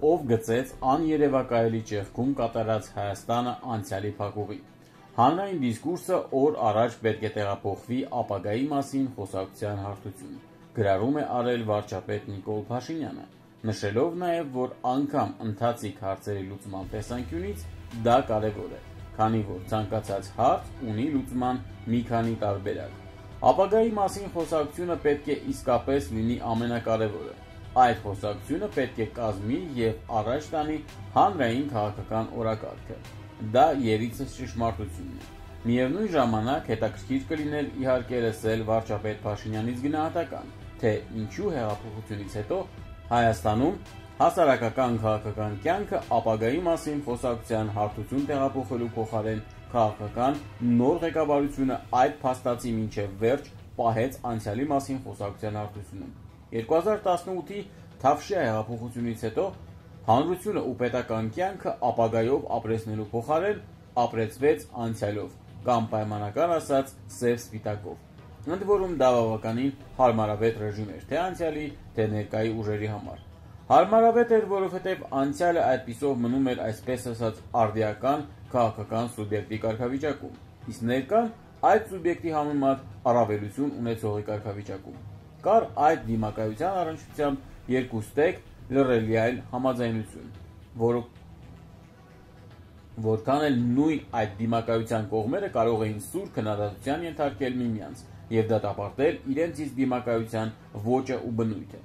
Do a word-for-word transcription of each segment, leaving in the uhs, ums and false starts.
ով գծեց աներևակայելի ճեղքում կատարած Հայաստանը անցյալի փակուղի։ Հանրային դիսկուրսը օր առաջ պետք է տեղափոխվի ապագայի մասին խոսակցության հարթություն, գրառում է արել վարչապետ Նիկոլ Փաշինյանը, նշելով նաև, որ անգամ ընթացիկ հարցերի լուծման տեսանկյունից դա կարևոր է, քանի որ ցանկացած հարց ունի լուծման մի քանի տարբերակ։ Ապագայի մասին խոսակցությունը պետք է իսկապես լինի ամենակարևորը։ Այդ խոսակցությունը պետք է կազմի և առաջ տանի հանրային քաղաքական օրակարգը։ Դա երիցս ճշմարտությունն է։ Միևնույն ժամանակ հետաքրքիր կլիներ իհարկե լսել վարչապետ Փաշինյանից գնահատական, թե ինչու հեղափոխությունից հետո Հայաստանում հասարակական քաղաքական կյանքը ապագայի մասին խոսակցության հարթություն տեղափոխելու փոխարեն քաղաքական նոր ղեկավարությունը այդ փաստացի մինչև վերջ պահեց անցյալի մասին խոսակցության հարթությունում։ երկու հազար տասնութի Թավշյա հեղափոխությունից հետո հանրությունը ու պետական կյանքը ապագայով ապրեցնելու փոխարեն ապրեցվեց անցյալով, կամ պայմանական ասած սև-սպիտակով։ Ընդ որում դա բավականին հարմարավետ ռեժիմ էր թե անցյալի, թե ներկայի ուժերի համար։ Հարմարավետ էր, որովհետև անցյալը այդպիսով մնում էր այսպես ասած արդիական քաղաքական սուբյեկտի կարգավիճակում, իսկ ներկան այդ սուբյեկտի համեմատ առավելություն ունեցողի կարգավիճակում։ Կար այդ դիմակայության առնչությամբ երկու ստեկ լռելի այլ համաձայնություն, որ որքան էլ նույն այդ դիմակայության կողմերը կարող էին սուր քննադատության ենթարկել միմյանց և դատապարտել իրենցից դիմակայության ոճը ու բնույթը։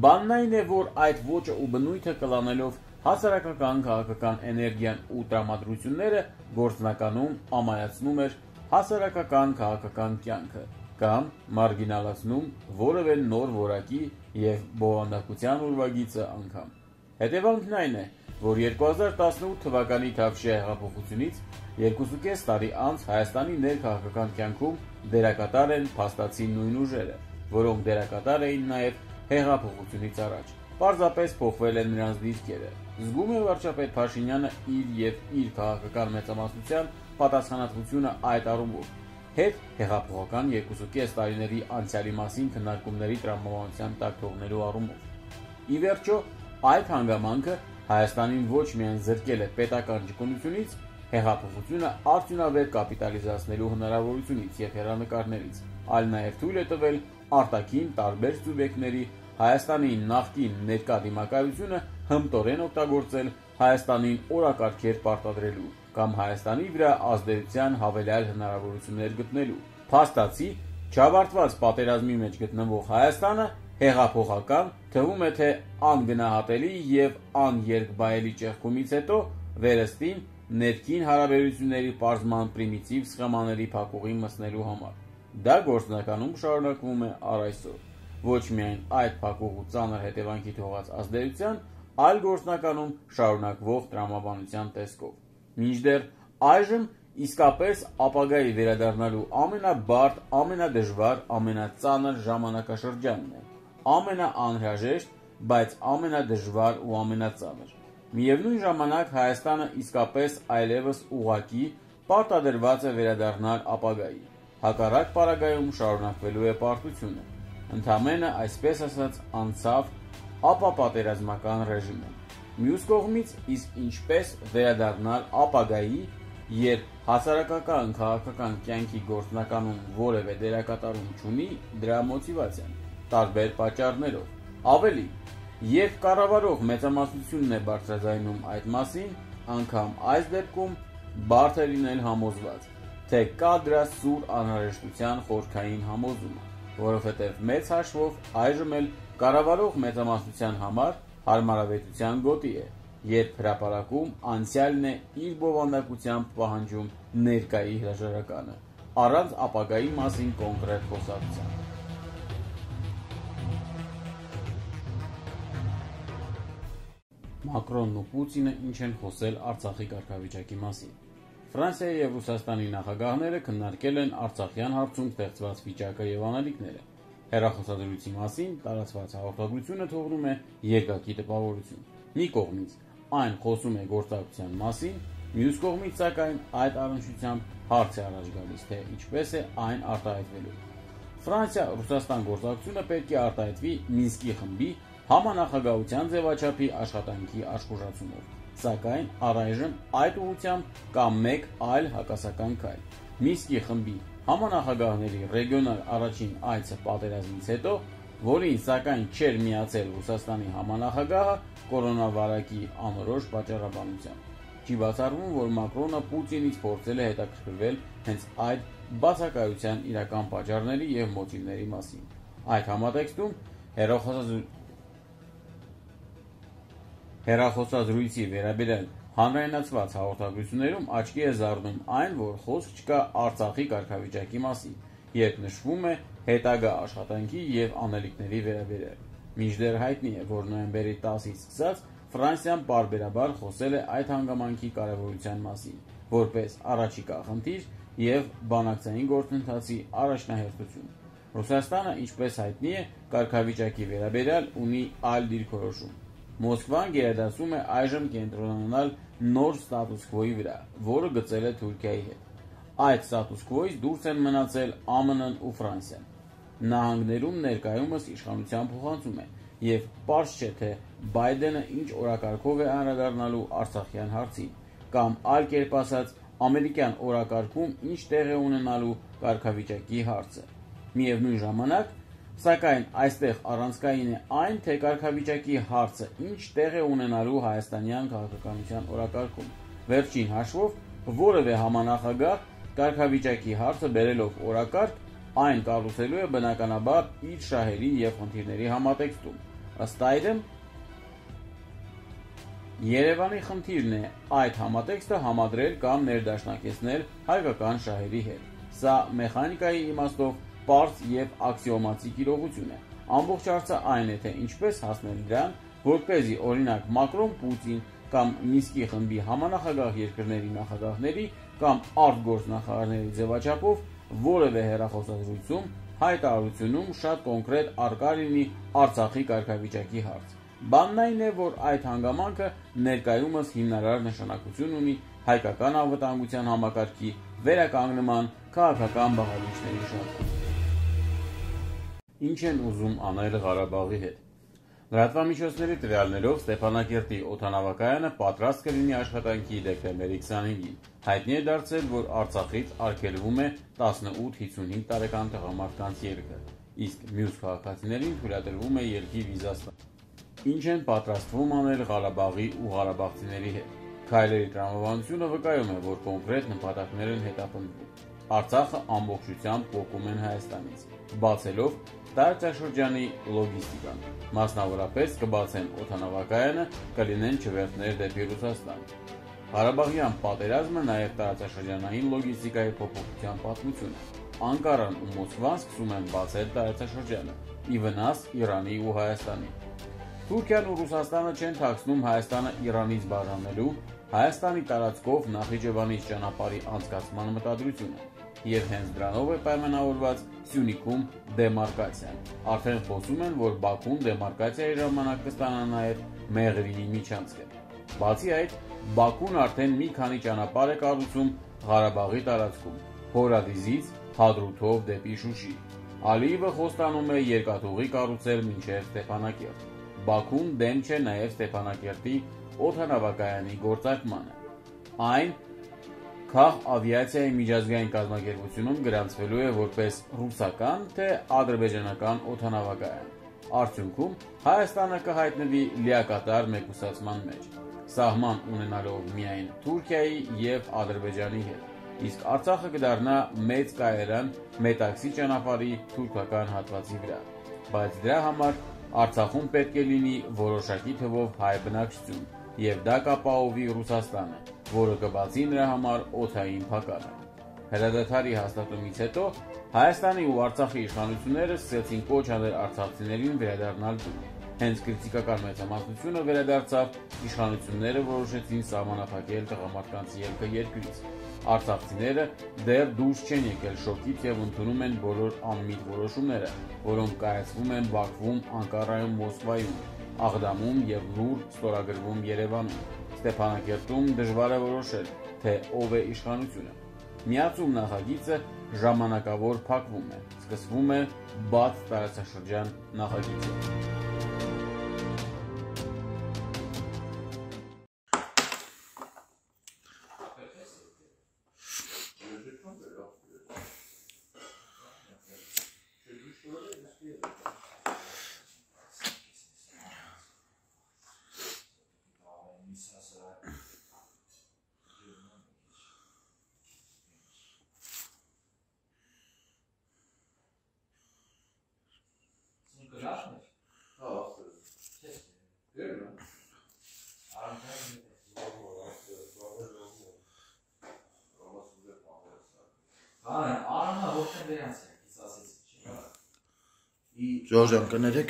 Բանն այն է, որ այդ ոճը ու բնույթը կլանելով հասարակական քաղաքական էներգիան ու տրամադրությունները գործնականում ամայացնում էր հասարակական քաղաքական կյանքը կամ մարգինալացնում որևէ նոր որակի և բովանդակության ուրվագիծը անգամ։ Հետևանքն այն է, որ երկու հազար տասնութ թվականի Թավշյա հեղափոխությունից երկուսուկես տարի անց Հայաստանի ներքաղաքական կյանքում դերակատար են փաստացի նույն ուժերը, որոնք դերակատար էին նաև հեղափոխությունից առաջ։ Պարզապես փոխվել են նրանց դիրքերը։ Զգում է վարչապետ Փաշինյանը իր և իր քաղաքական մեծամասնության պատասխանատվությունը այդ առումով, հետ հեղափոխական երկուսուկես տարիների անցյալի մասին քննարկումների տրամաբանության տակ թողնելու առումով։ Ի վերջո, այդ հանգամանքը Հայաստանին ոչ միայն զրկել է պետական ճկունությունից, հեղափոխությունը արդյունավետ կապիտալիզացնելու հնարավորությունից և հեռանկարներից, այլ նաև թույլ է տվել արտաքին տարբեր սուբյեկտների Հայաստանի նախկին ներկա դիմակայությունը հմտորեն օգտագործել Հայաստանին օրակարգեր պարտադրելու կամ Հայաստանի վրա ազդեցության հավելյալ հնարավորություններ գտնելու։ Փաստացի, չավարտված պատերազմի մեջ գտնվող Հայաստանը հեղափոխական, թվում է թե անգնահատելի և աներկբայելի ճեղքումից հետո վերստին ներքին հարաբերությունների պարզման պրիմիտիվ սխեմաների փակուղի մտցնելու համար։ Դա գործնականում շարունակվում է առ այսօր, ոչ միայն այդ փակուղու ծանր հետևանքի թողած ազդեցության, այլ գործնականում շարունակվող տրամաբանության տեսքով։ Մինչդեռ այժմ իսկապես ապագայի վերադառնալու ամենաբարդ, ամենադժվար, ամենածանր ժամանակաշրջանն է, ամենաանհրաժեշտ, բայց ամենադժվար ու ամենածանր։ Միևնույն ժամանակ Հայաստանը իսկապես այլևս ուղղակի պարտադրված է վերադառնալ ապագայի, հակառակ պարագայում շարունակվելու է պարտությունը, ընդամենը այսպես ասած անցավ ապապատերազմական ռեժիմը։ Մյուս կողմից, իսկ ինչպես վերադառնալ ապագայի, երբ հասարակական քաղաքական կյանքի գործնականում որևէ դերակատարում չունի դրա մոտիվացիան, տարբեր պատճառներով։ Ավելի, երբ կառավարող մեծամասնությունն է բարձրաձայնում այդ մասին, անգամ այս դեպքում բարդ է լինել համոզված, թե կա դրա սուր անհրաժեշտության խորքային համոզումը, որովհետև մեծ հաշվով այժմ էլ կառավարող մեծամասնության համար հարմարավետության գոտի է, երբ հրապարակում անցյալն է իր բովանդակությամբ պահանջում ներկայի հրաժարականը, առանց ապագայի մասին կոնկրետ խոսակցության։ Մակրոնն ու Պուտինը ինչ են խոսել Արցախի կարգավիճակի մասին։ Ֆրանսիայի և Ռուսաստանի նախագահները քննարկել են արցախյան հարցում ստեղծված վիճակը և անելիքները։ Հեռախոսադրույցի մասին տարածված հաղորդագրությունը թողնում է երկակի տպավորություն։ Մի կողմից այն խոսում է գործակցության մասին, մյուս կողմից սակայն այդ առնչությամբ հարց է առաջ գալիս, թե ինչպես է այն արտահայտվելու։ Ֆրանսիա-Ռուսաստան գործակցությունը պետք է արտահայտվի Մինսկի խմբի համանախագահության ձևաչափի աշխատանքի աշխուժացումով, սակայն առայժմ այդ ուղղությամբ կա մեկ այլ հակասական քայլ։ Մինսկի խմբի համանախագահների ռեգիոնալ առաջին այցը պատերազմից հետո, որին սակայն չէր միացել Ռուսաստանի համանախագահը կորոնավիրուսի անորոշ պատճառաբանությամբ։ Չի բացառվում, որ Մակրոնը Պուտինից փորձել է հետաքրքրվել հենց այդ բացակայության իրական պատճառների և մոտիվների մասին։ Այդ համատեքստում հեռախոսազրույցի վերաբերյալ հանրայնացված հաղորդագրություններում աչքի է զարնում այն, որ խոսք չկա Արցախի կարգավիճակի մասին, երբ նշվում է հետագա աշխատանքի և անելիքների վերաբերյալ։ Մինչդեռ հայտնի է, որ նոյեմբերի տասից սկսած Ֆրանսիան պարբերաբար խոսել է այդ հանգամանքի կարևորության մասին, որպես առաջիկա խնդիր և բանակցային գործընթացի առաջնահերթություն։ Ռուսաստանը, ինչպես հայտնի է, կարգավիճակի վերաբերյալ ունի այլ դիրքորոշում։ Մոսկվան գերադասում է այժմ կենտրոնանալ նոր ստատուս քվոյի վրա, որը գծել է Թուրքիայի հետ։ Այդ ստատուս քվոյից դուրս են մնացել Α Մ Ն ու Ֆրանսիան։ Նահանգներում ներկայումս իշխանության փոխանցում է, և պարզ չէ, թե Բայդենը ինչ օրակարգով է անդրադառնալու Արցախյան հարցին, կամ այլ կերպ ասած, ամերիկյան օրակարգում ինչ տեղ է ունենալու կարգավիճակի հարցը։ Միևնույն ժամանակ, սակայն այստեղ առանցքային է այն, թե կարգավիճակի հարցը ինչ տեղ է ունենալու հայաստանյան քաղաքականության օրակարգում։ Վերջին հաշվով, որևէ համանախագահ կարգավիճակի հարցը բերելով օրակարգ, այն կառուցելու է բնականաբար իր շահերի և խնդիրների համատեքստում։ Ըստ այդմ, Երևանի խնդիրն է այդ համատեքստը համադրել կամ ներդաշնակեցնել հայկական շահերի հետ։ Սա մեխանիկայի իմաստով պարզ և աքսիոմատիկ իրողություն է։ Ամբողջ հարցը այն է, թե ինչպես հասնել դրան, որպեսզի օրինակ Մակրոն, Պուտին կամ Մինսկի խմբի համանախագահ երկրների նախագահների կամ արտգործնախարարների ձևաչափով որևէ հեռախոսազրույցում հայտարարությունում շատ կոնկրետ առկա լինի Արցախի կարգավիճակի հարց։ Բանն այն է, որ այդ հանգամանքը ներկայումս հիմնարար նշանակություն ունի հայկական անվտանգության համակարգի վերականգնման քաղաքական բաղադրիչների շարքում։ Ինչ են ուզում անել Ղարաբաղի հետ։ Լրատվամիջոցների տվյալներով Ստեփանակերտի օդանավակայանը պատրաստ կլինի աշխատանքի դեկտեմբերի քսանհինգին։ Հայտնի է դարձել, որ Արցախից արգելվում է տասնութ հիսունհինգ տարեկան տղամարդկանց ելքը, իսկ մյուս քաղաքացիներին թույլատրվում է ելքի վիզա ստանալ։ Ինչ են պատրաստվում անել Ղարաբաղի ու ղարաբաղցիների հետ։ Քայլերի տրամաբանությունը վկայում է, որ կոնկրետ նպատակներ են հետապնդվում։ Արցախը ամբողջությամբ պոկում են Հայաստանից, բացելով տարածաշրջանի լոգիստիկան։ Մասնավորապես կբացեն օդանավակայանը, կլինեն չվերթներ դեպի Ռուսաստան։ Ղարաբաղյան պատերազմը նաև տարածաշրջանային լոգիստիկայի փոփոխության պատմություն է։ Անկարան ու Մոսկվան սկսում են բացել տարածաշրջանը՝ ի վնաս Իրանի ու Հայաստանի։ Թուրքիան ու Ռուսաստանը չեն թաքցնում Հայաստանը Իրանից բաժանելու, Հայաստանի տարածքով Նախիջևանից ճանապարհի անցկացման մտադրությունը, և հենց դրանով է պայմանավորված Սյունիքում դեմարկացիան։ Արդեն խոսում են, որ Բաքուն դեմարկացիայի ժամանակ կստանա նաև Մեղրիի միջանցքը։ Բացի այդ, Բաքուն արդեն մի քանի ճանապարհ է կառուցում Ղարաբաղի տարածքում՝ Հորադիզից Հադրութով դեպի Շուշի։ Ալիևը խոստանում է երկաթուղի կառուցել մինչև Ստեփանակերտ։ Բաքուն դեմ չէ նաև Ստեփանակերտի օդանավակայանի գործարկմանը։ Այն քաղ-ավիացիայի միջազգային կազմակերպությունում գրանցվելու է որպես ռուսական, թե ադրբեջանական օդանավակայան։ Արդյունքում Հայաստանը կհայտնվի լիակատար մեկուսացման մեջ, սահման ունենալով միայն Թուրքիայի և Ադրբեջանի հետ, իսկ Արցախը կդառնա մեծ կայարան Մետաքսի ճանապարհի թուրքական հատվածի վրա։ Բայց դրա համար Արցախում պետք է լինի որոշակի թվով հայ բնակչություն, և դա կապահովի Ռուսաստանը, որը կբացի նրա համար օդային փակարը։ Հրադադարի հաստատումից հետո Հայաստանի ու Արցախի իշխանությունները սկսեցին կոչ անել արցախցիներին վերադառնալ տուն։ Հենց քրիտիկական մեծամասնությունը վերադարձավ, իշխանությունները որոշեցին սահմանափակել տղամարդկանց ելքը երկրից։ Արցախցիները դեռ դուրս չեն եկել շոկից և ընդունում են բոլոր անմիտ որոշումները, որոնք կայացվում են Բաքվում, Անկարայում, Մոսկվայում, Աղդամում և լուռ ստորագրվում Երևանում։ Ստեփանակերտում դժվար է որոշել, թե ով է իշխանությունը։ Միացում նախագիծը ժամանակավոր փակվում է, սկսվում է բաց տարածաշրջան նախագիծը։ Ժորժան կներեք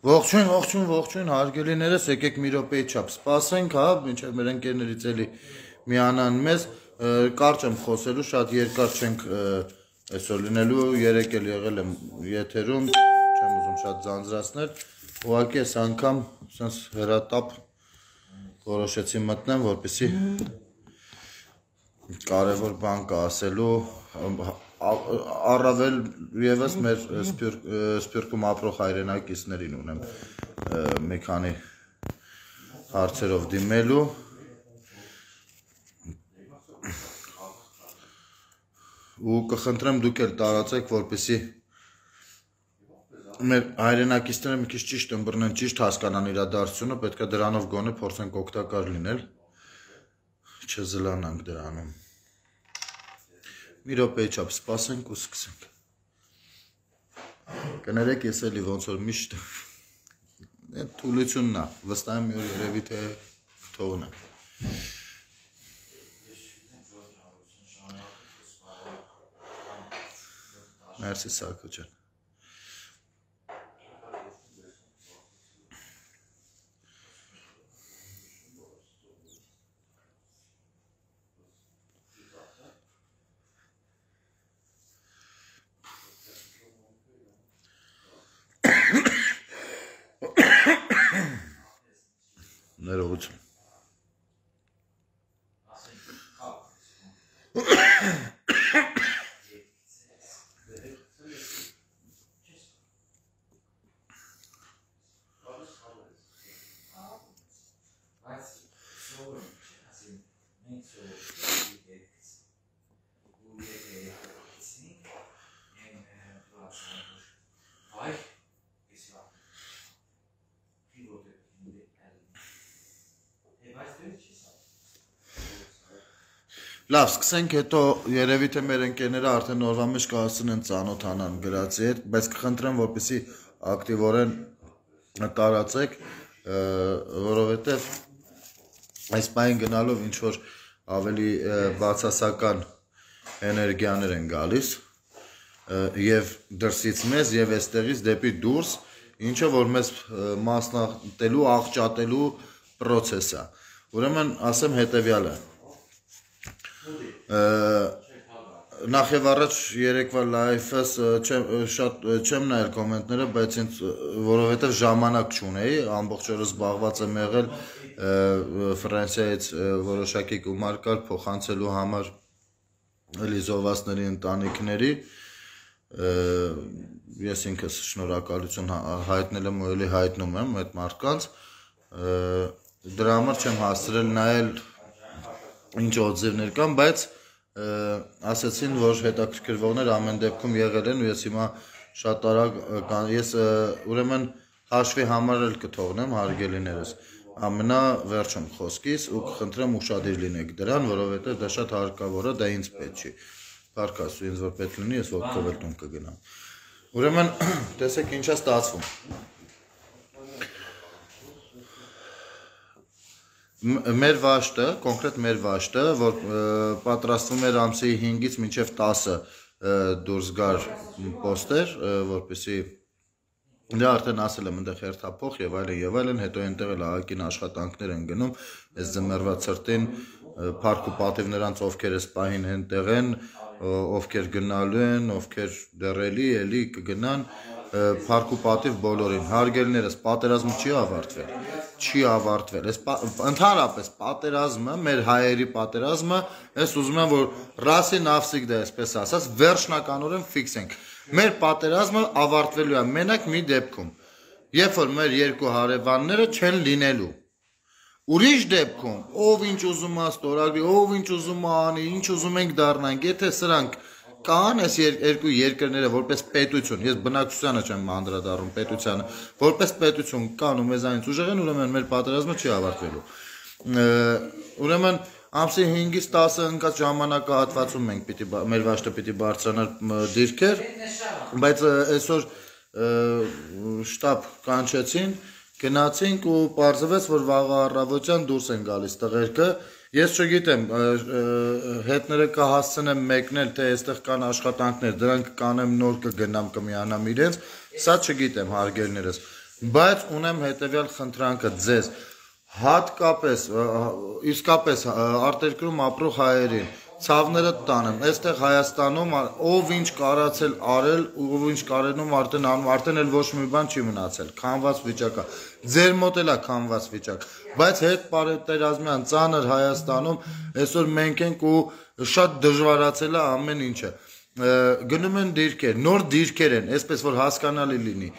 Ողջույն, ողջույն, ողջույն, հարգելիներս, եկեք մի րոպեի չափ սպասենք, հա, մինչև մեր ընկերներից էլի միանան մեզ, կարճ եմ խոսելու, շատ երկար չենք այսօր լինելու, երեք էլ եղել եմ եթերում, չեմ ուզում շատ ձանձրացնել, ուղղակի այս անգամ սենց հեռատապ որոշեցի մտնեմ, որպեսզի կարևոր բան կա ասելու, առավել ևս մեր Սփյուռքում ապրող հայրենակիցներին ունեմ մի քանի հարցերով դիմելու ու կխնդրեմ դուք էլ տարածեք, որպեսզի մեր հայրենակիցները մի քիչ ճիշտ ըմբռնեն, ճիշտ հասկանան իրադարձությունը, պետք է դրանով գոնե փորձենք օգտակար լինել, չզլանանք դրանում։ Մի րոպեի չափ սպասենք ու սկսենք։ Կներեք, ես էլի ոնց որ միշտ թուլությունն է, վստահ եմ մի օր երևի թե կթողնեմ։ Մերսի Սարգո ջան։ Ներողություն։ Լավ, սկսենք, հետո երևի թե մեր ընկերները արդեն օրվա մեջ կհասցնեն ծանոթանան գրածի հետ, բայց կխնդրեմ, որպեսզի ակտիվորեն տարածեք, որովհետև այս պահին գնալով ինչ որ ավելի բացասական էներգիաներ են գալիս եւ դրսից մեզ եւ այստեղից դեպի դուրս, ինչը որ մեզ մասնատելու, աղճատելու process է։ Ուրեմն ասեմ հետեւյալը Նախ եւ առաջ երեկվա լայվս շատ չեմ նայել կոմենտները, բայց ինձ որովհետեւ ժամանակ չունեի, ամբողջ օրը զբաղված եմ եղել Ֆրանսիայից որոշակի գումար կար փոխանցելու համար էլի զոհվածների ընտանիքների ես ինքս շնորհակալություն հայտնել եմ ու էլի հայտնում եմ այդ մարդկանց դրա համար չեմ հասցրել նայել ինչ օձևներ կան, բայց ասացին, որ հետաքրքրվողներ ամեն դեպքում եղել են ու ես հիմա շատ արագ ես ուրեմն հաշվի համար էլ կթողնեմ հարգելիներս ամենավերջում խոսքիս ու կխնդրեմ ուշադիր լինեք դրան, որովհետև դա շատ հարկավոր է, դա ինձ պետք չի։ Փառք Աստծո, ինձ որ պետք լինի, ես ոտքով էլ տուն կգնամ։ Ուրեմն տեսեք ինչ է ստացվում։ Մեր վաշտը, կոնկրետ մեր վաշտը, որ պատրաստվում էր ամսի հինգից մինչև տասը դուրս գար պոստեր, որպեսզի դա արդեն ասել եմ այնտեղ հերթափոխ եւ այլն եւ այլն, հետո այնտեղ էլ ահագին աշխատանքներ են գնում, այս ձմեռվա ցրտին փառք ու պատիվ նրանց ովքեր էս պահին այնտեղ են, ովքեր գնալու են, ովքեր դեռելի էլի կգնան, փառք ու պատիվ բոլորին։ Հարգելիներս, պատերազմը չի ավարտվել, չի ավարտվել։ Այս ընդհանրապես պատերազմը, մեր հայերի պատերազմը, ես ուզում եմ որ ռասի նավսիկ դա այսպես ասած, վերջնականորեն ֆիքսենք։ Մեր պատերազմը ավարտվելու է մենակ մի դեպքում, երբ որ մեր երկու հարևանները չեն լինելու։ Ուրիշ դեպքում, ով ինչ ուզում է ստորագրի, ով ինչ ուզում է անի, ինչ ուզում ենք դառնանք, եթե սրանք կան այս երկու երկրները որպես պետություն, ես բնակչությանը չեմ անդրադառնում պետությանը, որպես պետություն կան ու մեզանից ուժեղ են, ուրեմն մեր պատերազմը չի ավարտվելու։ Ուրեմն ամսի հինգից տասը ընկած ժամանակահատվածում մենք պիտի մեր վաշտը պիտի բարձրանար դիրքեր, բայց այսօր շտաբ կանչեցին, գնացինք ու պարզվեց, որ վաղը առավոտյան դուրս են գալիս տղերքը։ Ես չգիտեմ, հետները կհասցնեմ մեկնել, թե այստեղ կան աշխատանքներ, դրանք կանեմ նոր կգնամ կմիանամ իրենց, սա չգիտեմ հարգելներս, բայց ունեմ հետևյալ խնդրանքը ձեզ, հատկապես, իսկապես արտերկրում ապրող հայերին, ցավները տանեմ, այստեղ Հայաստանում ով ինչ կարացել արել, ով ինչ կարենում արդեն անում, արդեն էլ ոչ մի բան չի մնացել, քանված վիճակա, ձեր մոտ էլ է քանված վիճակ, բայց հետ պատերազմյան ծանր Հայաստանում այսօր մենք ենք ու շատ դժվարացել է ամեն ինչը, գնում են դիրքեր, նոր դիրքեր են, այսպես որ հասկանալի լինի,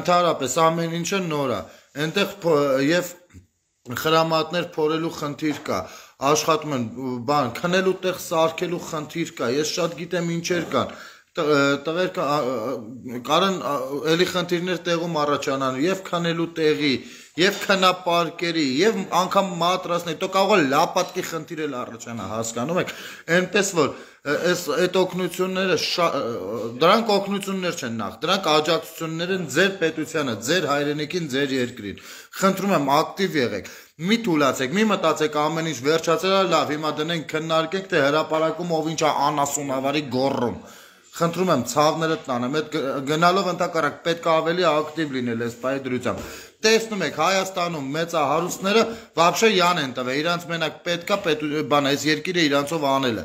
ընդհանրապես ամեն ինչը նոր է, այնտեղ եւ խրամատներ փորելու խնդիր կա, աշխատում են բան, քնելու տեղ սարքելու խնդիր կա, ես շատ գիտեմ ինչեր կան, տղեր կարան էլի խնդիրներ տեղում առաջանան, եւ քնելու տեղի, եւ քնապարկերի, եւ անգամ մատրասների, то կարող է լապատկի խնդիր էլ առաջանա, հասկանում եք, այնպես որ այս այդ օգնությունները դրանք օգնություններ չեն նախ, դրանք աջակցություններ են ձեր պետությանը, ձեր հայրենիքին, ձեր երկրին։ Խնդրում եմ ակտիվ եղեք, մի թուլացեք, մի մտածեք ամեն ինչ վերջացել է լավ, հիմա դնենք քննարկենք, թե հրապարակում ով ինչ է անասունավարի գոռում։ Խնդրում եմ ցավները տանեմ, այդ գնալով ընդհակառակ պետք է ավելի ակտիվ լինել այս պահի դրությամբ։ Տեսնում եք Հայաստանում մեծահարուստները вообще յան են տվել, իրանց մենակ պետքա բան այս երկիրը իրանցով անելը։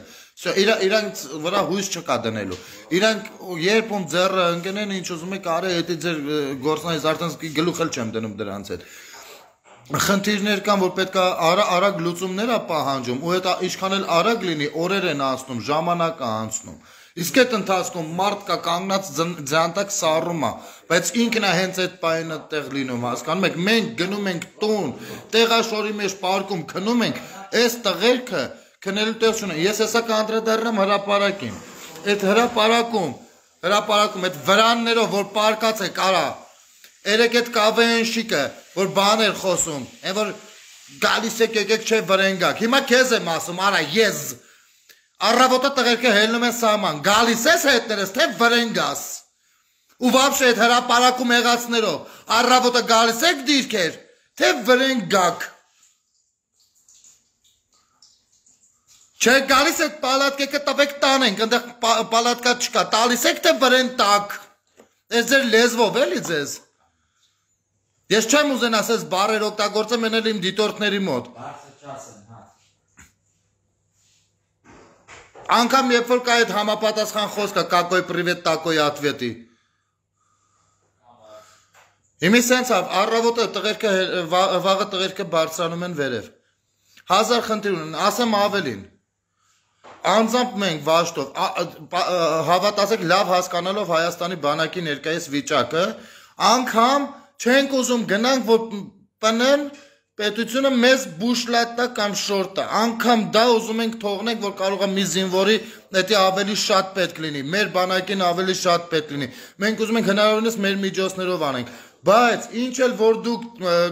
Իրանք վրա հույս չկա դնելու։ Իրանք երբ ում ձեռը ընկնեն, ինչ ուզում եք արի, դա ձեր գործնայից արդեն գլուխ էլ չեմ դնում դրանց հետ։ Խնդիրներ կան, որ պետք է արագ լուծումներ է պահանջում, ու այդ ինչքան էլ արագ լինի, օրեր են անցնում, ժամանակ է անցնում։ Իսկ այդ ընթացքում մարդ կա կանգնած ձանտակ սառում է, բայց ինքն է հենց այդ պահին այդտեղ լինում, հասկանում եք, մենք գնում ենք տուն, տեղաշորի մեջ պարկում քնում ենք, այս տղերքը քնելու տեղ չունեն։ Ես հեսա կանդրադառնամ հրապարակին։ Այդ հրապարակում, հրապարակում այդ վրաններով, որ պարկած է կարա, երեք այդ կավեն շիկը, որ բաներ խոսում, այն որ գալիս եք եկեք չէ վրենգակ։ Հիմա քեզ եմ ասում, արա ես առավոտը տղերքը հելնում են սահման, գալիս ես հետներս, թե վրենգաս։ Ու վաբշե այդ հրապարակում եղածներով, առավոտը գալիս եք դիրքեր, թե վրենգակ։ Չէ գալիս այդ պալատկեկը տվեք տանենք, ընդեղ պալատկա չկա, տալիս եք թե վրեն տակ։ Այս ձեր լեզվով էլի ձեզ։ Ես չեմ ուզեն ասես բարեր օգտագործեմ ենել իմ դիտորդների մոտ։ Անգամ երբ որ կա այդ համապատասխան խոսքը կակոյ պրիվետ տակոյ ատվետի։ Հիմի սենց առավոտը տղերքը վաղը տղերքը բարձրանում են վերև։ Հազար խնդիր ունեն, ասեմ ավելին։ Անձամբ մենք վաշտով հավատացեք լավ հասկանալով Հայաստանի բանակի ներկայիս վիճակը, անգամ չենք ուզում գնանք որ պնեն պետությունը մեզ բուշլատա կամ շորտա, անգամ դա ուզում ենք թողնենք, որ կարող է մի զինվորի դա ավելի շատ պետք լինի, մեր բանակին ավելի շատ պետք լինի, մենք ուզում ենք հնարավորինս մեր միջոցներով անենք, բայց ինչ էլ որ դուք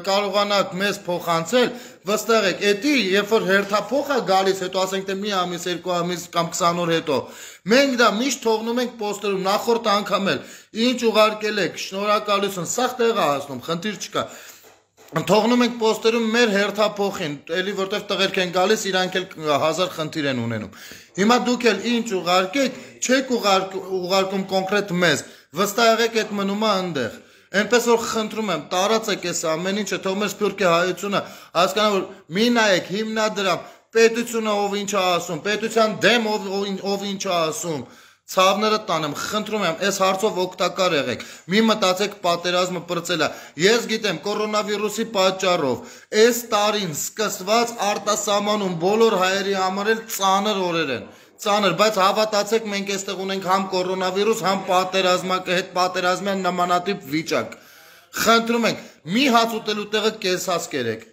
կարողանաք մեզ փոխանցել, վստահ եք, էդի երբ որ հերթափոխ է գալիս, հետո ասենք թե մի ամիս, երկու ամիս կամ քսան օր հետո, մենք դա միշտ թողնում ենք պոստերում, նախորդ անգամ էլ, ինչ ուղարկել եք, շնորհակալություն, սաղ տեղ է հասնում, խնդիր չկա։ Թողնում ենք պոստերում մեր հերթափոխին, էլի որտեվ տղերք են գալիս, իրանք էլ հազար խնդիր են ունենում։ Հիմա դուք էլ ինչ ուղարկեք, չեք ուղարկում կոնկրետ մեզ, վստահ եղեք այդ մնում է այնտեղ։ Այնպես որ խնդրում եմ, տարածեք այս ամեն ինչը, թող մեր սփյուռքի հայությունը հասկանա, որ մի նայեք հիմնադրամ, պետությունը ով ինչ է ասում, պետության դեմ ով ինչ է ասում, ցավները տանեմ, խնդրում եմ, այս հարցով օգտակար եղեք, մի մտածեք պատերազմը պրծել է, ես գիտեմ կորոնավիրուսի պատճառով, այս տարին սկսված արտասահմանում բոլոր հայերի համար էլ ծանր օրեր են, ծանր, բայց հավատացեք, մենք այստեղ ունենք համ կորոնավիրուս, համ պատերազմակը հետ պատերազմյան նմանատիպ վիճակ։ Խնդրում ենք, մի հաց ուտելու տեղը կես հաց կերեք։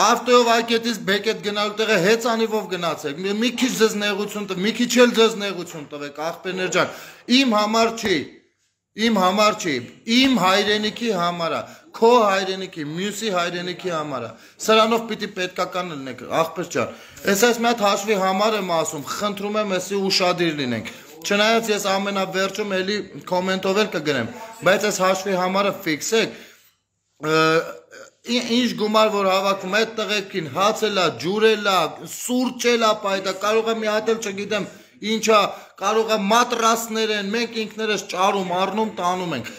Ավտոյով այգետից բեկետ գնալու տեղը հեծանիվով գնացեք։ Մի քիչ ձեզ նեղություն տվեք, մի քիչ էլ ձեզ նեղություն տվեք, աղբերներ ջան։ Իմ համար չի, իմ համար չի, իմ հայրենիքի համար է, քո հայրենիքի, մյուսի հայրենիքի համար է։ Սրանով պիտի պետքական լինեք, աղբեր ջան։ Ես այս մի հատ հաշվի համար եմ ասում, խնդրում եմ էսի ուշադիր լինենք։ Չնայած ես ամենավերջում էլի կոմենտով էլ կգրեմ, բայց այս հաշվի համարը ֆիքսեք։ Ինչ գումար որ հավաքում այդ տղեկին հաց էլա, ջուր էլա, սուրճ էլա պայտա, կարող է մի հատ էլ չգիտեմ ինչա, կարող է մատրասներ են, մենք ինքներս ճարում, առնում, տանում ենք։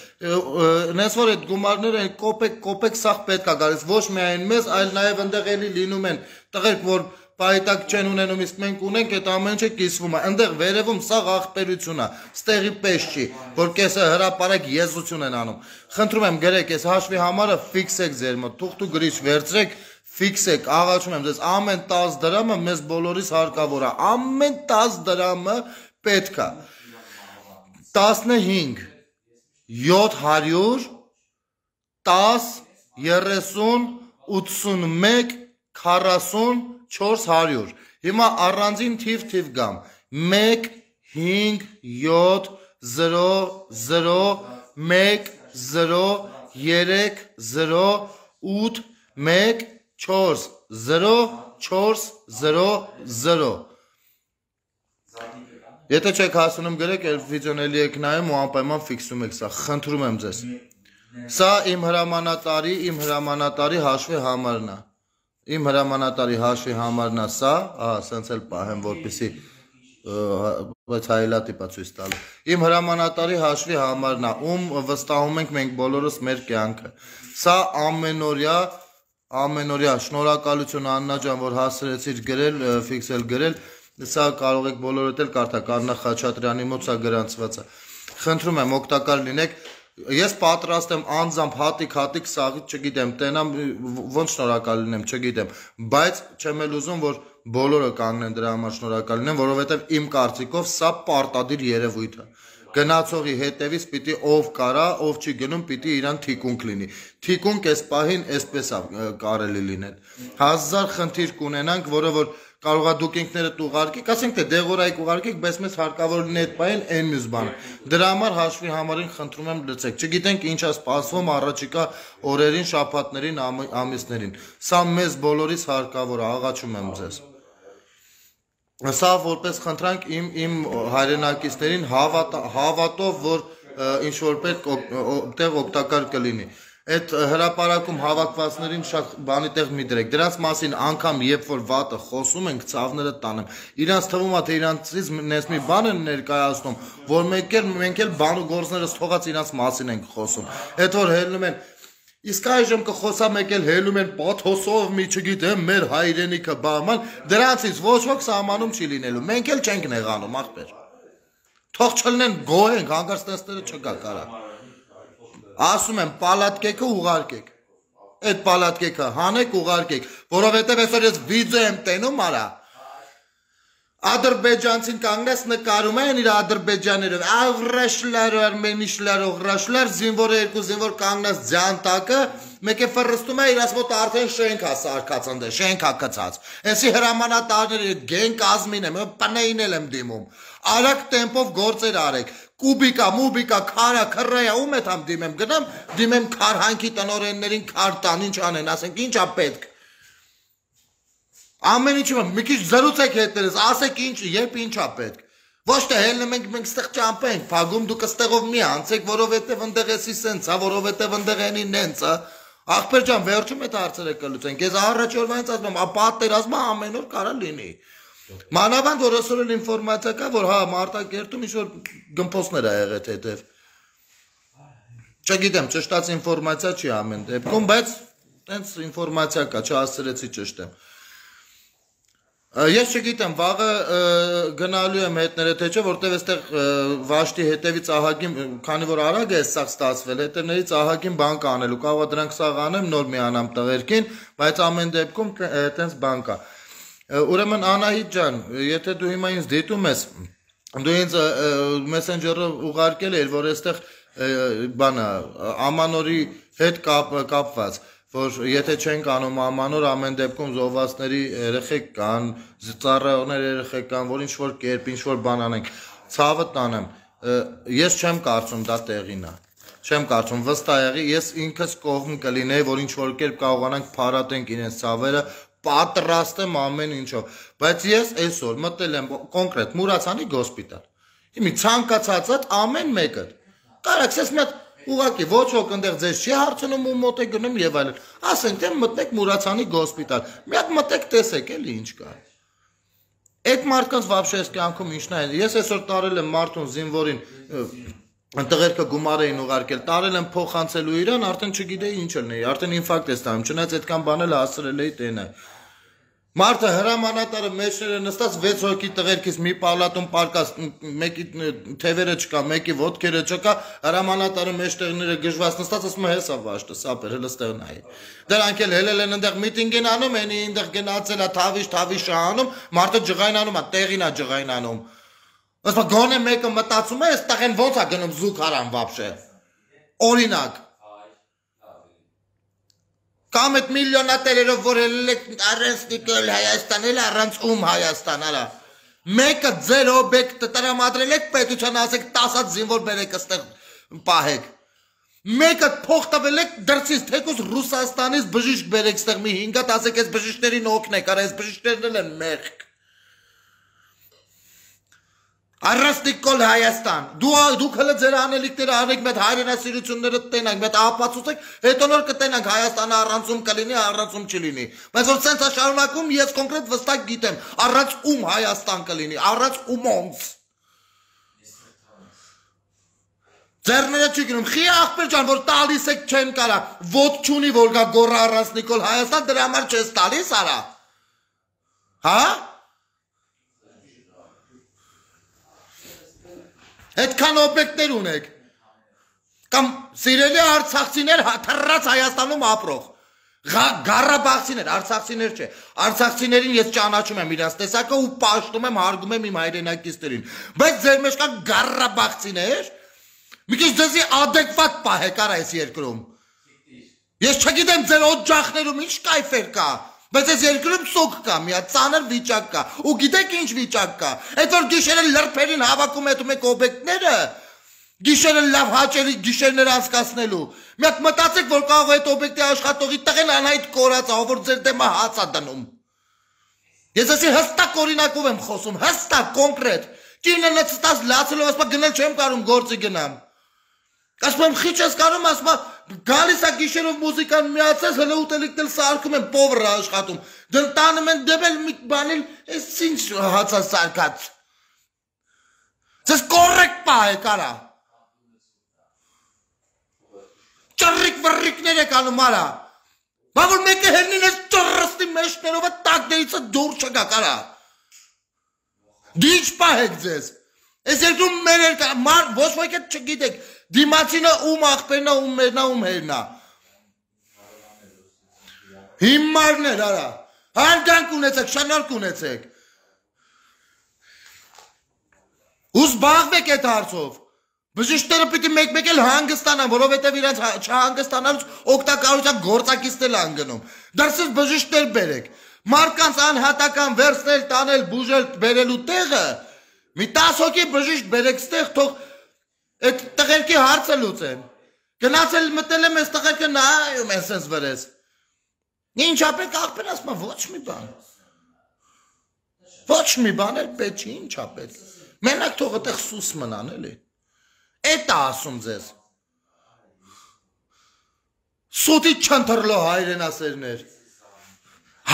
Նենց որ այդ գումարները կոպեկ, կոպեկ սաղ պետք է գալիս, ոչ միայն մեզ, այլ նաև ընդեղ էլի լինում են տղերք, որ պայտակ չեն ունենում, իսկ մենք ունենք, այդ ամեն ինչը կիսվում է, ընդեղ վերևում սաղ աղբերություն է, ստեղի պես չի, որ կեսը հրապարակ եզություն են անում։ Խնդրում եմ գրեք, այս հաշվի համարը ֆիքսեք ձեր մոտ, թուղթ ու գրիչ վերցրեք, ֆիքսեք, աղաչում եմ ձեզ, ամեն տասը դրամը մեզ բոլորիս հարկավոր է, ամեն տասը դրամը պետք է։ տասնհինգ, յոթ հարյուր, տասը, երեսուն, ութսունմեկ, քառասուն, չորս հարյուր։ Հիմա առանձին թիվ թիվ գամ։ մեկ, հինգ, յոթ, զրո, զրո, մեկ, զրո, երեք, զրո, ութ, մեկ, չորս, զրո, չորս, զրո, զրո։ Եթե չեք հասունում գրեք, էլ վիդեոն էլի եք նայում ու անպայման ֆիքսում եք սա, խնդրում եմ ձեզ։ Սա իմ հրամանատարի, իմ հրամանատարի հաշվի համարն է։ Իմ հրամանատարի հաշվի համարն է սա, ահա, սենց էլ պահեմ, որպեսզի բայց հայելատիպ է ցույց տալու։ Իմ հրամանատարի հաշվի համարն է, ում վստահում ենք մենք բոլորս մեր կյանքը։ Սա ամենօրյա, ամենօրյա շնորհակալություն Աննա ջան, որ հասցրեցիր գրել, ֆիքսել գրել, սա կարող եք բոլորդ էլ կարդալ, Արնա Խաչատրյանի մոտ սա գրանցված է։ Խնդրում եմ օգտակար լինեք։ Ես պատրաստ եմ անձամբ հատիկ-հատիկ սաղից, չգիտեմ, տենամ, ոնց շնորհակալ լինեմ, չգիտեմ, բայց չեմ էլ ուզում, որ բոլորը կանգնեն դրա համար շնորհակալ լինեն, որովհետև իմ կարծիքով սա պարտադիր երևույթ է։ Գնացողի հետևից պիտի ով կարա, ով չի գնում, պիտի իրան թիկունք լինի։ Թիկունք այս պահին այսպես է կարելի լինել։ Հազար խնդիր կունենանք, որը որ կարող է դուք ինքներդ ուղարկեք, ասենք թե դեղորայք ուղարկեք, բայց մեզ հարկավոր լինի այդ պահին այն մյուս բանը։ Դրա համար հաշվի համարին խնդրում եմ լցեք։ Չգիտենք ինչ է սպասվում առաջիկա օրերին, շաբաթներին, ամիսներին։ Սա մեզ բոլորիս հարկավոր է, աղաչում եմ ձեզ։ Սա որպես խնդրանք իմ իմ հայրենակիցներին հավատով, որ ինչ որ պետք տեղ օգտակար կլինի։ Այդ հրապարակում հավաքվածներին շատ բանի տեղ մի դրեք։ Դրանց մասին անգամ երբ որ վատը խոսում ենք, ցավները տանեմ։ Իրանց թվում է թե իրանցից նես մի բան են ներկայացնում, որ մենք էլ մենք էլ բան ու գործներս թողած իրանց մասին ենք խոսում։ Այդ որ հելնում են Իսկ այժմ կխոսա մեկ էլ հելում են պաթոսով մի չգիտեմ մեր հայրենիքը բաման, դրանցից ոչ ոք սահմանում չի լինելու, մենք էլ չենք նեղանում, ախպեր։ Թող չլնեն գոհենք, հանկարծ տեսները չկա կարա։ Ասում եմ, պալատկեքը ուղարկեք, այդ պալատկեքը հանեք ուղարկեք, որովհետև այսօր ես վիդեո եմ տենում արա, ադրբեջանցին կանգնես նկարում են իր ադրբեջաներով, ավրաշլար, արմենիշլար, օղրաշլար, զինվորը երկու զինվոր կանգնած ձյան տակը, մեկ է ֆռստում է իրաց մոտ արդեն շենք է սարքած ընդ, շենք է կցած։ Էսի հրամանատարները գեն կազմին եմ, պնեին էլ եմ դիմում։ Արագ տեմպով գործեր արեք։ Կուբիկա, մուբիկա, քարա, քռայա, ում է թամ դիմեմ, գնամ, դիմեմ քարհանքի տնօրեններին քար տան, ինչ անեն, ասենք ինչ է պետք։ Ամեն ինչը մի քիչ զրուցեք հետներս, ասեք ինչ, երբ ինչ է պետք։ Ոչ թե հելնում ենք մենք ստեղ ճամփենք, փագում դուք ստեղով մի անցեք, որովհետև ընդեղ էսի սենց է, որովհետև ընդեղ էնի նենց է։ Ախպեր ջան, վերջում այդ հարցերը կլուծենք։ Ես առաջ օրվանից ասում եմ, պատերազմը ամեն օր կարա լինի։ Մանավանդ որ այսօր էլ ինֆորմացիա կա, որ հա Մարտակերտում ինչ որ գմփոսներ ա եղել հետև։ Չգիտեմ, ճշտած ինֆորմացիա չի ամեն դեպքում, բայց տենց ինֆորմացիա կա, չհասցրեցի ճշտեմ։ Ես չգիտեմ, վաղը գնալու եմ հետները թե չէ, որտև այստեղ Վաշտի հետևից ահագին, քանի որ արագ է սաղ ստացվել, հետևներից ահագին բան կա անելու, կարող է դրանք սաղ անեմ, նոր միանամ տղերքին, բայց ամեն դեպքում տենց բան կա։ Ուրեմն Անահիտ ջան, եթե դու հիմա ինձ դիտում ես, դու ինձ մեսենջերը ուղարկել էր, որ այստեղ բանը ամանորի հետ կապված, որ եթե չենք անում ամանոր, ամեն դեպքում զոհվածների երեխեք կան, ծառայողներ երեխեք կան, որ ինչ-որ կերպ, ինչ-որ բան անենք, ցավը տանեմ, ես չեմ կարծում դա տեղին է, չեմ կարծում, վստահ եղի, ես ինքս կողմ կլինեի, որ ինչ-որ կերպ կարողանանք փարատենք իրենց ցավերը, պատրաստ եմ ամեն ինչով, բայց ես այսօր մտել եմ կոնկրետ Մուրացանի գոսպիտալ, հիմի ցանկացածդ ամեն մեկը, կարաք ես մի հատ ուղղակի ոչ ոք ընդեղ ձեզ չի հարցնում ու մոտ է գնում եւ այլն, ասենք թե մտնեք Մուրացանի գոսպիտալ, մի հատ մտեք տեսեք էլի ինչ կա, այդ մարդկանց вообще այս կյանքում ինչն է, ես այսօր տարել եմ մարդուն զինվորին տղերքը գումար էին ուղարկել, տարել եմ փոխանցելու իրան, արդեն չգիտեի ինչ լինի, արդեն ինֆարկտ է ստանում, չնայած այդքան բանել հասցրել էի տենը։ Մարդը հրամանատարը մեջները նստած վեց հոգի տղերքից մի պալատում պարկած, մեկի թևերը չկա, մեկի ոտքերը չկա, հրամանատարը մեջտեղները գժված նստած, ասում է հեսա վաշտը, սապեր, հələ ստեղ նայ։ Դրանք էլ հելել են այնտեղ միտինգ են անում, այնի այնտեղ գնացել է թավիշ, թավիշ անում, մարդը ջղայնանում է, տեղին է ջղայնանում։ Ասма գոնե մեկը մտածում է, այստեղ են ոնց է գնում զուգ հարան вообще։ Օրինակ։ Կամ այդ միլիոնատերերով որ առանց նիկել Հայաստան էլ առանց ում Հայաստան, արա։ Մեկը ձեր օբյեկտը տրամադրել եք պետության ասեք տասը զինվոր բերեք այստեղ պահեք։ Մեկը փող տվել եք դրսից թեկուզ Ռուսաստանից բժիշկ բերեք այստեղ մի հինգ հատ ասեք այս բժիշկներին օգնեք, արա այս բժիշկներն են մեղք։ Առանց նիկել Հայաստան, դուք հələ ձեր անելիքները անեք, մեծ հայրենասիրությունները տենանք, մեծ ապացուցեք, հետո նոր կտենանք Հայաստանը առանց ում կլինի, առանց ում չլինի։ Բայց որ սենց է շարունակում, ես կոնկրետ վստահ գիտեմ, առանց ում Հայաստան կլինի, առանց ումոնց։ Ձեռները չի գնում, խի աղբեր ջան, որ տալիս եք չեն կարա, ոտ չունի, որ գա գոռա առանց նիկել Հայաստան, դրա համար չես տալիս, արա։ Հա։ Այդքան օբյեկտներ ունեք, կամ սիրելի արցախցիներ թռած Հայաստանում ապրող, Ղարաբաղցիներ, արցախցիներ չէ, արցախցիներին ես ճանաչում եմ իրենց տեսակը ու պաշտում եմ, հարգում եմ իմ հայրենակիցներին, բայց ձեր մեջ կան Ղարաբաղցիներ, մի քիչ ձեզի ադեկվատ պահեք արա այս երկրում, ես չգիտեմ ձեր օջախներում ինչ կայֆեր կա, բայց այս երկրում սոկ կա, մի հատ ծանր վիճակ կա, ու գիտեք ինչ վիճակ կա, այդ որ գիշերը լրբերին հավաքում ետում եք օբյեկտները, գիշերը լավ հաճելի գիշերներ անցկացնելու, մի հատ մտածեք, որ կարող է այդ օբյեկտի աշխատողի տղեն անհայտ կորած ա, որ ձեր դեմը հաց ա դնում։ Ես ասի հստակ օրինակով եմ խոսում, հստակ, կոնկրետ, կինը լծտած լացելով, ասма գնել չեմ կարում գործի գնամ։ Ասում եմ խիչ ես կարում, ասում եմ գալիս է գիշերով մուզիկան միացես, հլը ուտելիքն էլ սարքում են, պովրը աշխատում, դրտանում են դեպել մի բանել, ես ինչ հացա սարկած։ Ձեզ կորեք պահեք արա։ Ճռիկ վռիկներ եք անում արա։ Բա որ մեկը հերնին ես ճռստի մեջներով տակներիցը դուր չգակ արա։ Դի ինչ պահեք ձեզ։ Ես երկրում մեր երկա, ոչ ոք էտ չգիտեք, դիմացինը ում աղբերնա, ում մերնա, ում հերնա։ Հիմարներ արա, հարգանք ունեցեք, շնորհք ունեցեք։ Ու զբաղվեք այդ հարցով։ Բժիշկները պիտի մեկ-մեկ էլ հանգստանան, որովհետև իրենց չհանգստանալուց օգտակարության գործակիցներ են գնում։ Դրսից բժիշկներ բերեք։ Մարդկանց անհատական վերցնել, տանել, բուժել, բերելու տեղը մի տասը հոգի բժիշկ բերեք ստեղ, թող այդ տղերքի հարցը լուծեն։ Գնացել մտել եմ այս տղերքը նայում են սենց վրես։ Ինչ ապեք աղբեր ասում եմ, ոչ մի բան։ Ոչ մի բան էլ պետք չի, ինչ ապեք։ Մենակ թող այդտեղ սուս մնան էլի։ Էդ է ասում ձեզ։ Սուտի չընթրլո հայրենասերներ։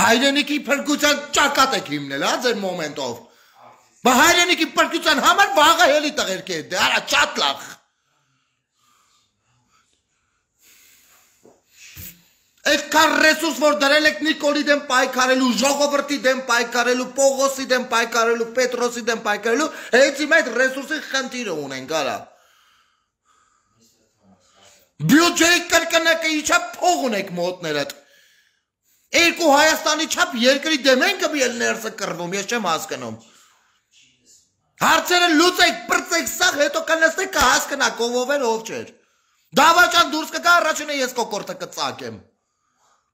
Հայրենիքի փրկության ճակատ եք հիմնել, հա ձեր մոմենտով։ Բա հայրենիքի փրկության համար վաղը հելի տղերքի է, դե արա ճատ լավ։ Այդքան ռեսուրս, որ դրել եք Նիկոլի դեմ պայքարելու, ժողովրդի դեմ պայքարելու, Պողոսի դեմ պայքարելու, Պետրոսի դեմ պայքարելու, հենց իմ այդ ռեսուրսի խնդիրը ունենք, արա։ Բյուջեի կրկնակը իչա փող ունեք մոտներդ։ Երկու Հայաստանի չափ երկրի դեմ են կմիել ներսը կռվում, ես չեմ հասկանում։ Հարցերը լուծեք, պրծեք սաղ, հետո կնստեք կհասկնաք ով էր, ով չէր։ Դավաճան դուրս կգա առաջինը ես կոկորտը կծակեմ։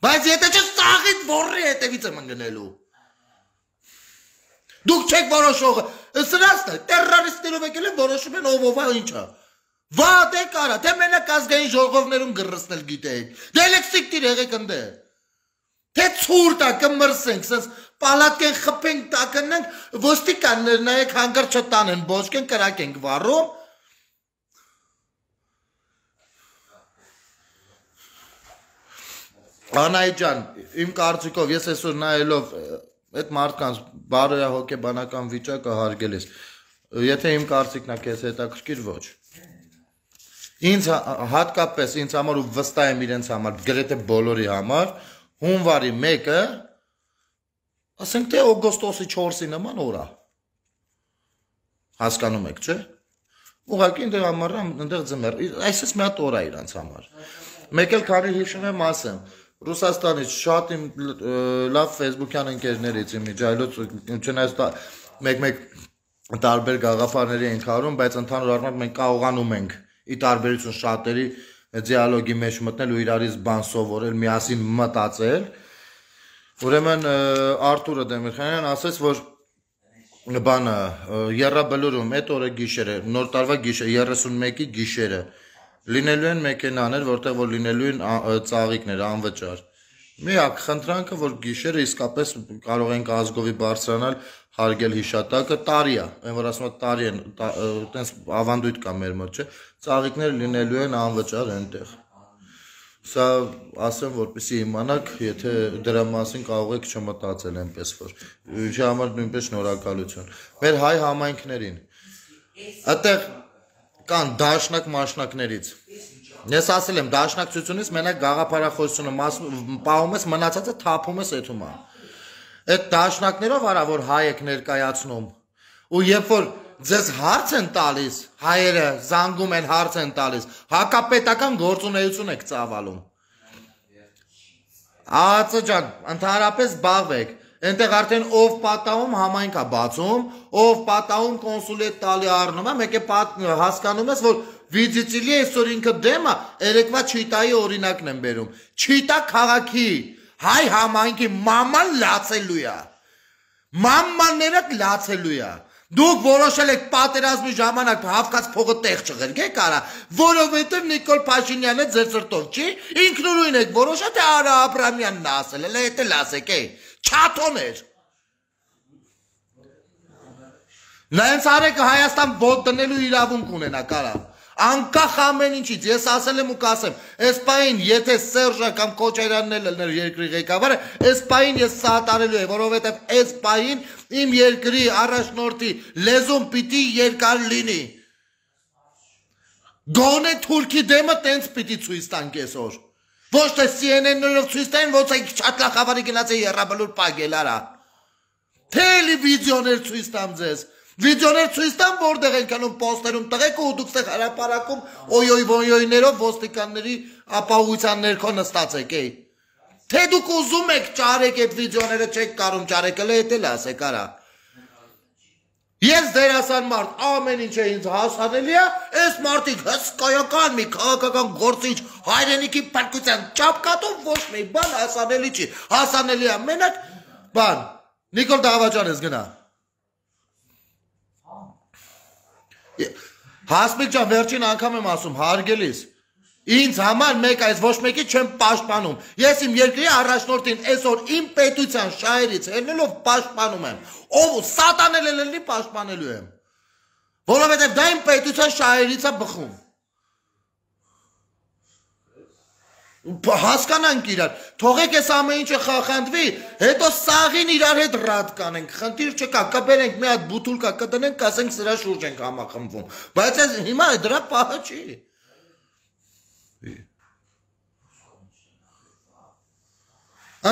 Բայց եթե չէ սաղից որի հետևից եմ ընկնելու։ Դուք չեք որոշողը, սրասն է, տերրորիստներով եկել են որոշում են ով ով է ինչա։ Վատ է կարա, թե մենակ ազգային ժողովներում գրռցնել գիտեիք։ Դե լեքսիկ տիր եղեք ընդե։ Թե ցուրտ է կմրսենք, սենց պալատկեն խփենք տակնենք, ոստիկաններ նայեք հանգար չտանեն, բոճկեն կրակենք վառում։ Անահիտ ջան, իմ կարծիքով ես այսօր նայելով այդ մարդկանց բարոյահոգեբանական վիճակը հարգել ես։ Եթե իմ կարծիքն է քեզ հետաքրքիր ոչ։ Ինձ հատկապես ինձ համար ու վստահ եմ իրենց համար, գրեթե բոլորի համար, հունվարի մեկը, ասենք թե օգոստոսի չորսի նման օր է։ Հասկանում եք, չէ՞։ Ուղղակի այնտեղ ամառան, այնտեղ ձմեռ, այսպես մի հատ օր է իրանց համար։ Մեկ էլ քանի հիշում եմ ասեմ, Ռուսաստանից շատ իմ լավ ֆեյսբուքյան ընկերներից իմ ջայլոց չնայած մեկ-մեկ տարբեր գաղափարների ենք հարում, բայց ընդհանուր առմամբ մենք կարողանում ենք ի տարբերություն շատերի դիալոգի մեջ մտնել ու իրարից բան սովորել, միասին մտածել։ Ուրեմն Արթուրը Դեմիրխանյան ասաց, որ բանը Եռաբլուրում այդ օրը գիշերը, նոր տարվա գիշերը, երեսունմեկի գիշերը լինելու են մեքենաներ, որտեղ որ լինելու են ծաղիկներ, անվճար։ Միակ խնդրանքը, որ գիշերը իսկապես կարող ենք ազգովի բարձրանալ, հարգել հիշատակը, տարի է, այն որ ասում է տարի են, այտենց ավանդույթ կա մեր մոտ, չէ, ծաղիկներ լինելու են անվճար այնտեղ։ Սա ասեմ, որպեսզի իմանաք, եթե դրա մասին կարող եք չմտածել այնպես որ։ Ինչի համար նույնպես շնորհակալություն։ Մեր հայ համայնքներին։ Այդտեղ կան դաշնակ մաշնակներից։ Ես ասել եմ, դաշնակցությունից մենակ գաղափարախոսությունը պահում ես, մնացածը թափում ես էթում է։ Այդ դաշնակներով արա, որ հայ եք ներկայացնում, ու երբ որ ձեզ հարց են տալիս, հայերը զանգում են հարց են տալիս, հակապետական գործունեություն եք ծավալում։ Ածը ջան, ընդհանրապես զբաղվեք, այնտեղ արդեն ով պատահում համայնք է բացում, ով պատահում կոնսուլետ տալի առնում է, մեկ է հասկանում ես, որ Վիձիցիլի այսօր ինքը դեմ է, երեկվա Չիտայի օրինակն են բերում։ Չիտա քաղաքի հայ համայնքի մաման լացելու է։ Մամանները լացելու է։ Դուք որոշել եք պատերազմի ժամանակ Հովկաց փողը տեղ չղրգեք արա, որովհետև Նիկոլ Փաշինյանը ձեր սրտով չի, ինքնուրույն եք որոշել, թե Արա Աբրամյանն ասել, էլ էդ էլ ասեք, է, չաթոներ։ Նայենց արեք Հայաստան ոտ դնելու իրավունք ունենա կարա։ Անկախ ամեն ինչից, ես ասել եմ ու կասեմ, այս պահին, եթե Սերժը կամ Քոչարյանն էլ լներ երկրի ղեկավարը, այս պահին ես սատարելու եմ, որովհետև այս պահին իմ երկրի առաջնորդի լեզուն պիտի երկար լինի։ Գոնե Թուրքի դեմը տենց պիտի ցույց տանք այսօր։ Ոչ թե C N N-ներով ցույց տային, ոնց է Չատլախավարի գնաց է Եռաբլուր պագել արա։ Տելևիզիոներ ցույց տամ ձեզ։ Վիդեոներ ցույց տամ, որտեղ են կանում պոստերում տղեկ ու դուք ստեղ հրապարակում օյոյ ոյոյներով ոստիկանների ապահովության ներքո նստած եք, էй։ Թե դուք ուզում եք ճարեք այդ վիդեոները չեք կարում ճարեք, էլ էդ էլ ասեք արա։ Ես դերասան մարդ, ամեն ինչ է ինձ հասանելի է, այս մարդիկ հսկայական մի քաղաքական գործիչ հայրենիքի փրկության ճապկատով ոչ մի բան հասանելի չի։ Հասանելի է մենակ բան։ Նիկոլ Դավաճան ես գնա։ Հասմիկ ջան, վերջին անգամ եմ ասում, հարգելիս, ինձ համար մեկ այս ոչ մեկի չեմ պաշտպանում, ես իմ երկրի առաջնորդին այսօր իմ պետության շահերից ելնելով պաշտպանում եմ, ով սատանել ելնի պաշտպանելու եմ, որովհետև դա իմ պետության շահերից է բխում, հասկանանք իրար, թողեք ես ամեն ինչը խախանդվի, հետո սաղին իրար հետ ռադ կանենք, խնդիր չկա, կբերենք մի հատ բութուլկա կտնենք, կասենք սրա շուրջ ենք համախմբվում, բայց ես հիմա դրա պահը չի։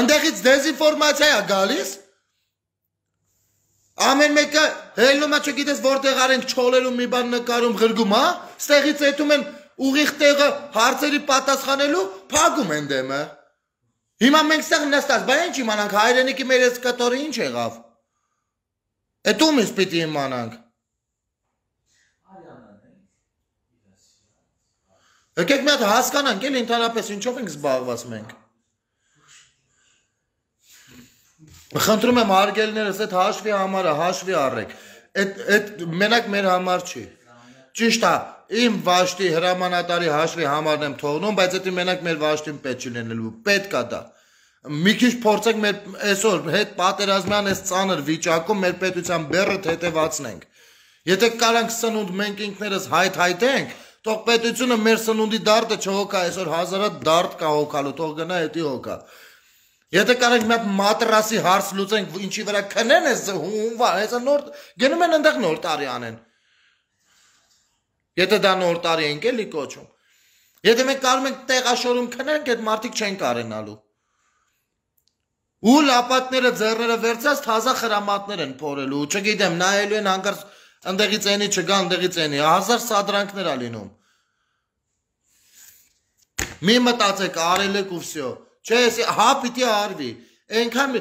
Ընդեղից դեզինֆորմացիա է գալիս, ամեն մեկը հելնում է չգիտես որտեղ արենք չոլերում մի բան նկարում գրգում, հա, ստեղից էտում են ուղիղ տեղը հարցերի պատասխանելու փակում են դեմը։ Հիմա մենք ստեղ նստած, բա ինչ իմանանք, հայրենիքի մեր այս կտորը ինչ եղավ։ Էդ ում ես պիտի իմանանք։ Եկեք մի հատ հասկանանք, էլ ընդհանրապես ինչով ենք զբաղված մենք։ Խնդրում եմ հարգելիներս, այդ հաշվի համարը հաշվի առեք։ Այդ մենակ մեր համար չի։ Ճիշտ է, իմ վաշտի հրամանատարի հաշվի համարն եմ թողնում, բայց դա մենակ մեր վաշտին պետք չի լինելու, պետք է դա։ Մի քիչ փորձենք մեր այսօր հետ պատերազմյան այս ծանր վիճակում մեր պետության բեռը թեթևացնենք։ Եթե կարանք սնունդ մենք ինքներս հայթայթենք, թող պետությունը մեր սնունդի դարտը չհոգա, այսօր հազարատ դարտ կա հոգալու, թող գնա էդի հոգա։ Եթե կարանք մի հատ մատրասի հարց լուծենք, ինչի վրա քնեն էս հունվար, հեսա նոր գնում են այնտեղ նոր տարի անեն։ Եթե դա նոր տարի ենք էլի կոչում։ Եթե մենք կարող ենք տեղաշորում քնենք, այդ մարդիկ չեն կարենալու։ Ու լապատները ձեռները վերցած թազա խրամատներ են փորելու, չգիտեմ, նայելու են հանկարծ ընդեղից էնի չգա, ընդեղից էնի, հազար սադրանքներ ա լինում։ Մի մտածեք, արել եք ու վсё։ Չէ, հա պիտի արվի։ Այնքան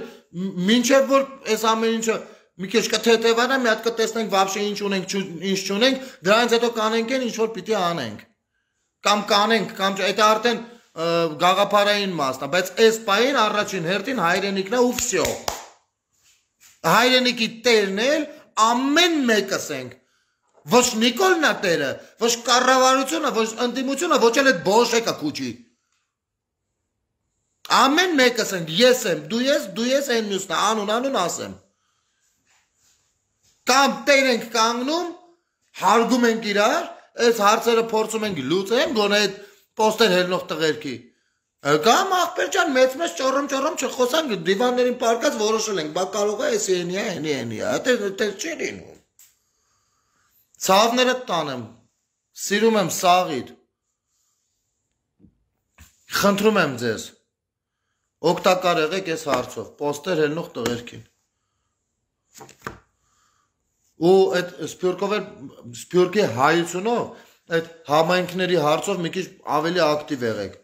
մինչև որ այս ամեն ինչը մի քիչ կթեթևանա, մի հատ կտեսնենք вообще ինչ ունենք, ինչ չունենք, դրանից հետո կանենք են ինչ որ պիտի անենք։ Կամ կանենք, կամ այդ արդեն գաղափարային մասն է, բայց այս պահին առաջին հերթին հայրենիքն է ու վсё։ Հայրենիքի տերն էլ ամեն մեկս ենք։ Ոչ Նիկոլն է տերը, ոչ կառավարությունը, ոչ ընդդիմությունը, ոչ էլ այդ բոշեկը քուչի։ Ամեն մեկս ենք, ես եմ, դու ես, դու ես այն մյուսն է, անուն անուն ասեմ։ Կամ տեր ենք կանգնում, հարգում ենք իրար, այս հարցերը փորձում ենք լուծենք, գոնե այդ պոստեր հելնող տղերքի։ Կամ ախպեր ջան, մեծ մեծ ճոռոմ ճոռոմ չխոսանք, դիվաններին պարկած որոշել ենք, բա կարող է էսի էնի է, էնի էնի է, դա չի լինում։ Ցավները տանեմ, սիրում եմ սաղիդ։ Խնդրում եմ ձեզ, օգտակար եղեք այս հարցով, պոստեր հելնող տղերքին։ Ու այդ սպյուրկով էլ, սպյուրկի հայությունով, այդ համայնքների հարցով մի քիչ ավելի ակտիվ եղեք։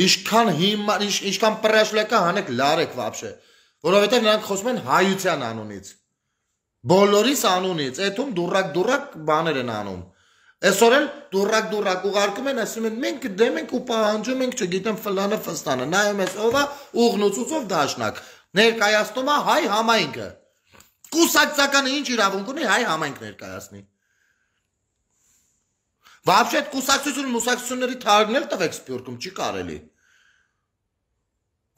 Ինչքան հիմա, ինչքան պրաշլեկա հանեք լարեք вообще, որովհետև նրանք խոսում են հայության անունից։ Բոլորիս անունից, այդում դուրակ-դուրակ բաներ են անում։ Այսօր էլ դուրակ-դուրակ ուղարկում են, ասում են մենք դեմ ենք ու պահանջում ենք, չգիտեմ ֆլանը ֆստանը, նայում ես ով է ուղնուցուցով դաշնակ, ներկայացնում է հայ համայնքը։ Կուսակցականը ինչ իրավունք ունի հայ համայնք ներկայացնի։ Вообще այդ կուսակցություն մուսակցությունների թարգնել տվեք Սփյուռքում, չի կարելի։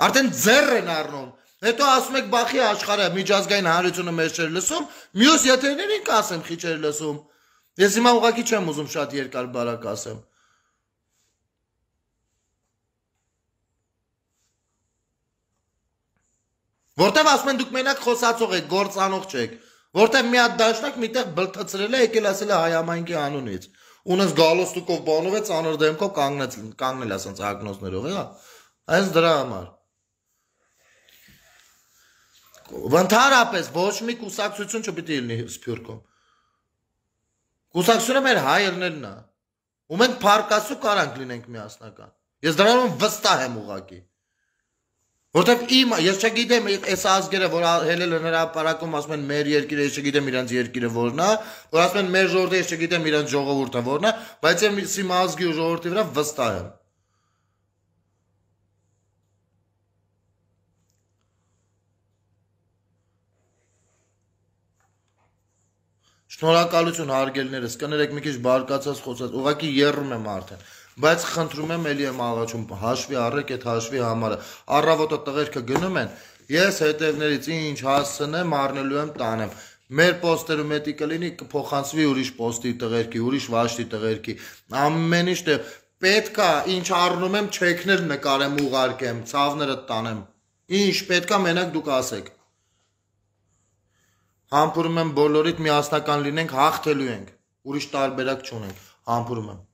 Արդեն ձեռ են առնում։ Հետո ասում եք բախի աշխարհը միջազգային հանրությունը մեզ չէր լսում, մյուս եթերներին կասեմ խի չէր լսում։ Ես հիմա ուղղակի չեմ ուզում շատ երկար բարակ ասեմ։ Որտեվ ասում են դուք մենակ խոսացող եք, գործանող չեք։ Որտեվ մի հատ դաշնակ միտեղ բլթացրել է, եկել ասել է հայ համայնքի անունից։ Ունես գալոստուկով բանով է ծանր դեմքով կանգնել, կանգնել ասենց ագնոզներով, հա։ Այս դրա համար։ Ընդհանրապես ոչ մի կուսակցություն չպիտի լինի Սփյուռքում։ Կուսակցությունը մեր հայերներն է։ Ու մենք փարկասու կարանք լինենք միասնական։ Ես դրանով վստահ եմ ուղղակի։ Որտեվ իմ, ես չգիտեմ այս ազգերը, որ հելել են հրապարակում, ասում են մեր երկիրը, ես չգիտեմ իրանց երկիրը որն է, որ ասում են մեր ժողովուրդը, ես չգիտեմ իրանց ժողովուրդը որն է, բայց ես իմ ազգի ու ժողովրդի վրա վստահ եմ։ Շնորհակալություն հարգելիներս, կներեք մի քիչ բարկացած խոսած, ուղղակի եռում եմ արդեն, բայց խնդրում եմ էլի եմ աղաչում, հաշվի առեք այդ հաշվի համարը, առավոտը տղերքը գնում են, ես հետևներից ինչ հասցնեմ, առնելու եմ տանեմ, մեր պոստերում էտի կլինի կփոխանցվի ուրիշ պոստի տղերքի, ուրիշ վաշտի տղերքի, ամեն ինչ պետք է ինչ առնում եմ չեքներ նկարեմ ուղարկեմ, ցավները տանեմ, ինչ պետք է մենակ դուք ասեք։ Համբուրում եմ բոլորիդ միասնական լինենք, հաղթելու ենք, ուրիշ տարբերակ չունենք, համբուրում եմ։